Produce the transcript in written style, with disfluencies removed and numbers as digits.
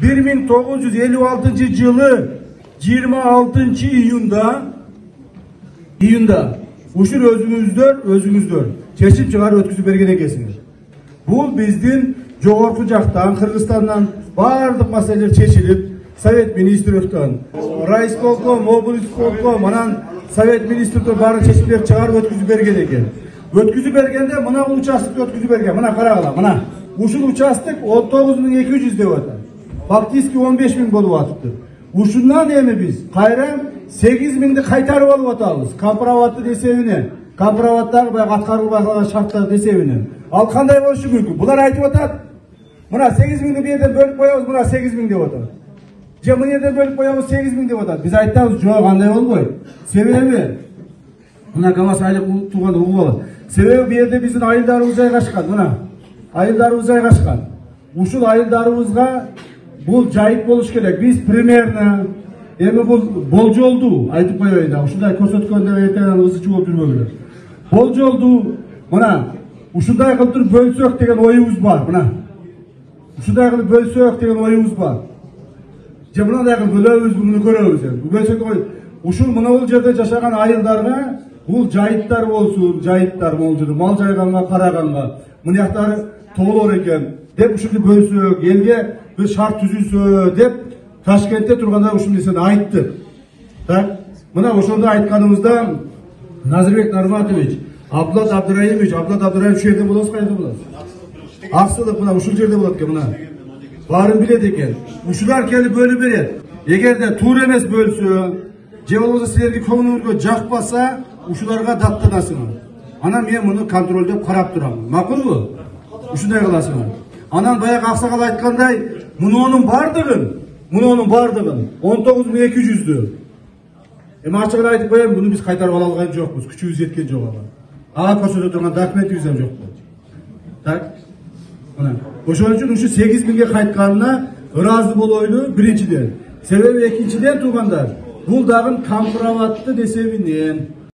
1956 жылы 26 июнда ушул өзүңүздөр чечим чыгарып өткүзүп берген экенсиңер. Бул биздин жогорку жактан Кыргызстандан бардык маселелер чечилип, Совет министрликтен, райисполком, облисполком, анан Совет министрликтен баардык чечимдерди чыгарып өткүзүп берген экен. Өткүзүп бергенде мына бул участокты өткүзүп берген. Мына карагыла, мына. Ушул участок 19.200 деп атат. Фактически 15.000 болуп атыптыр. Ушундан эми биз кайра 8.000ди кайтарып алып атабыз. Компроматтын эсебинен, компроматтагы баягы аткарылбай калган шарттардын эсебинен. Ал кандай болушу мүмкүн? Булар айтып атат. Мына 8.000ди бу жерден бөлүп коебуз, мына 8.000 деп атат. Же мына жерден бөлүп коебуз 8.000 деп атат. Биз айтабыз, жок, андай болбойт. Себеби мына КамАЗ айлык тууганда угуп алат. Себеби бу жерде биздин айылдарыбыз жайгашкан, мына. Айылдарыбыз жайгашкан. Ушул айылдарыбызга бул жайыт болуш керек. Биз примерно эми бул болжолду айтып коеюн да. Ушундай көрсөткөндө эртең ызычы болуп жүрбөгүлөр. Болжолду мына ушундай кылып туруп бөлсөк деген оюбуз бар, мына. Ушундай кылып бөлсөк деген оюбуз бар. Же мындай кылып бөлөбүз, муну көрөбүз эми. Бөлсөк ой, ушул мына бул жерде жашаган айылдарга бул жайыттар болсун, жайыттар болжуду, мал жайганга, караганга, мынаяктары тоолор экен деп ушуну бөлсөк, элге bir şart түзүлсө деп Ташкентте турганда ушул нерсени айттык. Так, мына ошондо айтканыбызда Назырбек Нарматович, Абдулат Абдыраимович, ушул жерде болосуз, кайда болосуз? Аксылык мына ушул жерде болот экен, мына. Баарын билет экен. Ушулар келип бөлүп берет. Эгерде туура эмес бөлсө, же болбосо силерге көңүлүңүзгө жакпаса, ушуларга даттанасыңар. Анан мен муну контролдоп карап турам. Макулбу? Ушундай кыласыңар. Анан баягы аксакал айткандай, мунунун бардыгын 19.200'дү. Эми ачыгын айтып коем, буну биз кайтарып ала алган жокпуз, күчүбүз жеткен жок ага. Ага көрсөтө турган документибиз ham жок. Так? Мына, ошон үчүн ушу 8.000ге кайтканына ыраазы болойлу биринчиден. Себеби экинчиден туугандар, бул дагы компроматтын эсебинен